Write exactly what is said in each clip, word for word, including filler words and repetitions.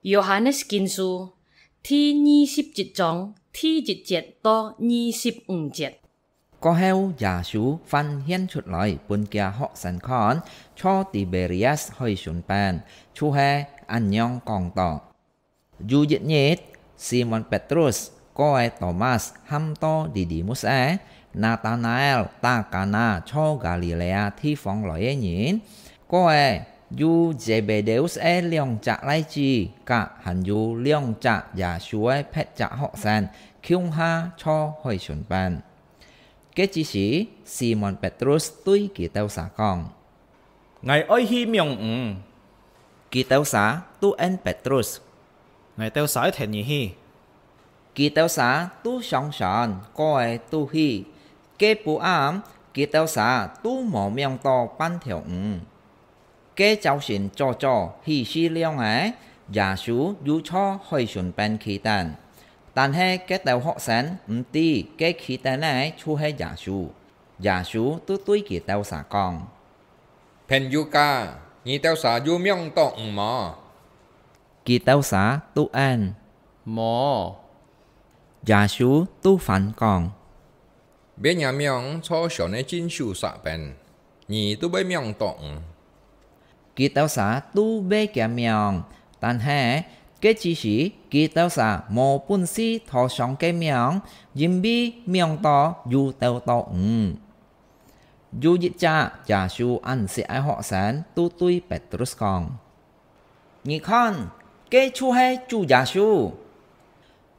Yohanes Kinsu第二十一章第一節到二十五節。過後，耶穌還現出來分厥學生看，在Tiberias海脣邊，就係恁樣講道。有一日，Simon Petrus、哥仔Tomas喊到Didimus仔、Natanael打Kana在加里肋亞地方來个人，哥仔有Zebedeus仔兩隻倈子，甲還有兩隻耶穌个別隻學生，共下在海脣邊。該之時，Simon Petrus對佢兜儕講：「𠊎愛去網魚。」佢兜儕都應Petrus：「𠊎兜儕愛跈你去。」佢兜儕都上船，哥仔都去。該晡暗，佢兜儕都無網到半條魚。 該朝晨早早，起勢亮仔，耶穌又在海脣邊企等。但係該兜學生毋知該企等个就係耶穌。耶穌就對佢兜儕講：「朋友家，你兜儕有網到魚無？」佢兜儕就應：「無。」耶穌就還講：「揹若網在船个正手析邊，你就會網到魚。」佢兜儕就揹厥網，但係該之時，佢兜儕無本事拖上該網，因為網到有兜到魚。有一隻耶穌恁識个學生就對Petrus講： 「你看，該就係主耶穌。」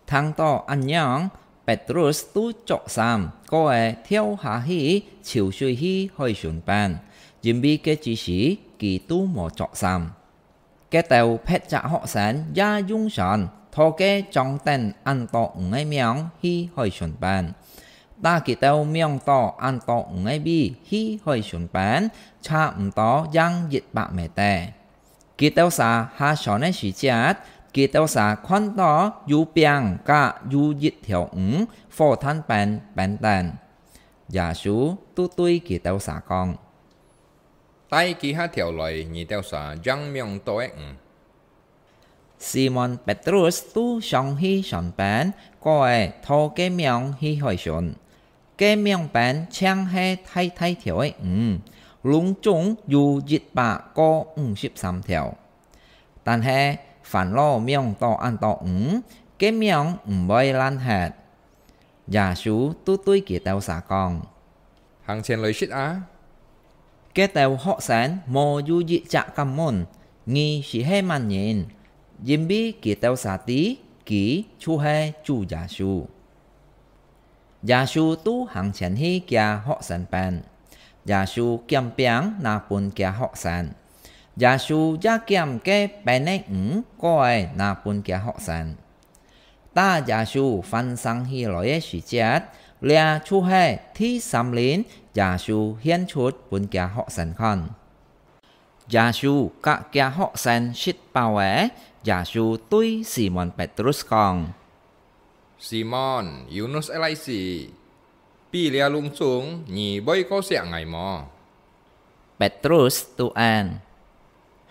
聽到恁樣，Petrus就著衫，過仔跳下去泅水去海脣邊，因為該之時佢都無著衫。該兜別隻學生也用船拖該裝等恁多魚个網去海脣邊，但佢兜網到恁多魚个尾去海脣邊，差毋多還一百米地。 佢兜儕下船个時節，佢兜儕看到有餅甲有一條魚火炭邊冰等。耶穌就對佢兜儕講：「帶幾下條來你兜儕正網到个魚。」Simon Petrus就上去船邊，過仔拖該網去海脣。 該網邊淨係大大條个魚，攏總有一百個五十三條。但係，凡落網到恁多魚，該網毋會爛忒。耶穌就對佢兜儕講：「行前來食啊！」該兜學生無有一隻敢問：「你係係麼人？」因為佢兜儕知，佢就係主耶穌。 耶穌就行前去厥學生邊。耶穌撿餅拿分厥學生。耶穌也撿該冰个魚，過仔拿分厥學生。打耶穌還生起來个時節，這就係第三輪耶穌現出分厥學生看。耶穌甲厥學生食飽仔，耶穌對Simon Petrus講： Simon，Yunus个倈子，比這攏總你會過惜𠊎無？Petrus就應：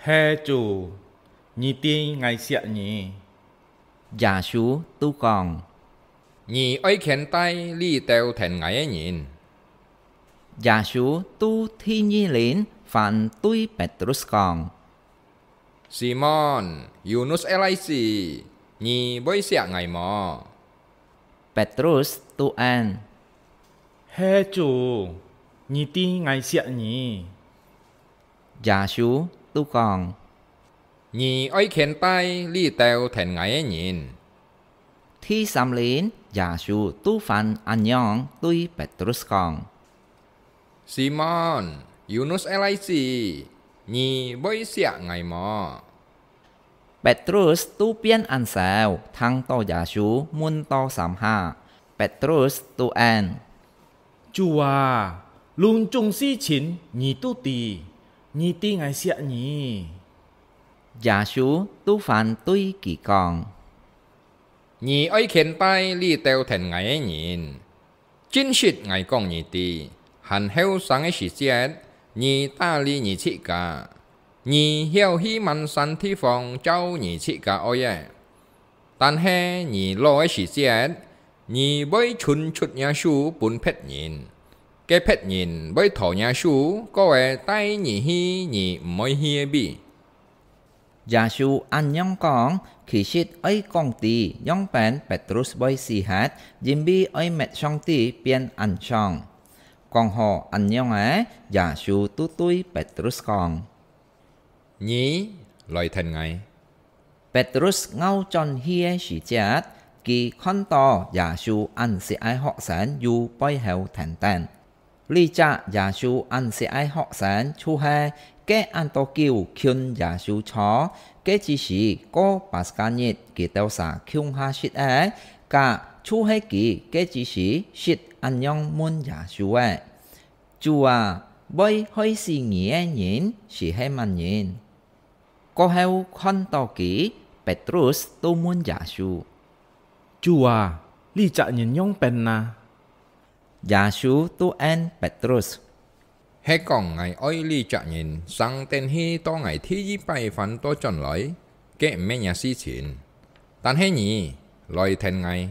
係，主，你知𠊎惜你。耶穌就講：你愛牽帶這兜跈𠊎个人。耶穌就第二輪還對Petrus講： Simon，Yunus个倈子，你會惜𠊎無？Petrus就應：係，主，你知𠊎惜你。耶穌就講：你愛牽帶這兜跈𠊎个人。第三輪，耶穌就還恁樣對Petrus講： Simon，Yunus个倈子，你會惜𠊎無？Petrus就變恁愁，聽到耶穌問到三下。Petrus就應：主啊，攏總事情你都知，你知𠊎惜你。耶穌就還對佢講：你愛牽帶這兜跈𠊎个人。 真實𠊎講你知，還後生个時節，你打理你自家，你曉去滿山地方照你自家愛个，但係你老个時節，你會伸出若手分別人，該別人會拖若手，過仔帶你去你毋愛去个位。」耶穌恁樣講，其實愛講知仰般Petrus會死忒，因為愛搣上帝變恁樣。講好恁樣仔，耶穌就對Petrus講：「你來跈𠊎。」Petrus𠢕轉去个時節，佢看到耶穌恁惜个學生由背後跈等。這隻耶穌恁惜个學生就係該恁多久近耶穌坐，該之時過Paskah日，佢兜儕共下食个，甲就係佢該之時識恁樣問耶穌个：「主啊，會害死你个人斯係麼人？」過後看到佢，Petrus就問耶穌：「主啊，這隻人仰般哪？」耶穌就應Petrus：「係講𠊎愛這隻人生等去到𠊎第二擺反倒轉來，該毋係若事情。但係你來跈𠊎。」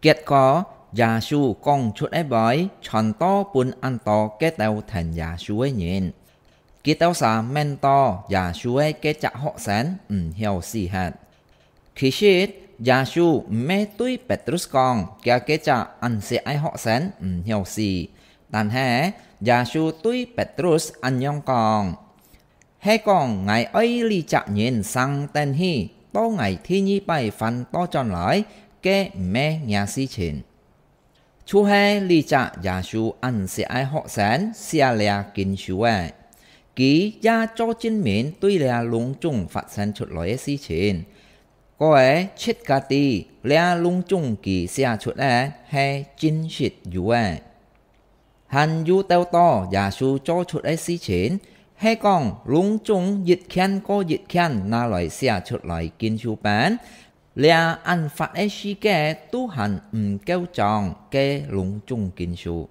結果，耶穌講出个話，傳到分恁多該兜跈耶穌个人。佢兜儕愐到耶穌个該隻學生毋曉死忒。其實，耶穌毋係對Petrus講，厥該隻恁惜个學生毋曉死，但係耶穌對Petrus恁樣講：「係講𠊎愛這隻人生等去，到𠊎第二擺反倒轉來，該毋係若事情。」就係這隻耶穌恁惜个學生寫這經書个，佢也做證明對這攏總發生出來个事情。過仔自家知，這攏總佢寫出个係真實有个。 還有兜多耶穌做出个事情，係講攏總一件過一件拿來寫出來經書本，這恁闊个世界都還毋夠裝該攏總經書。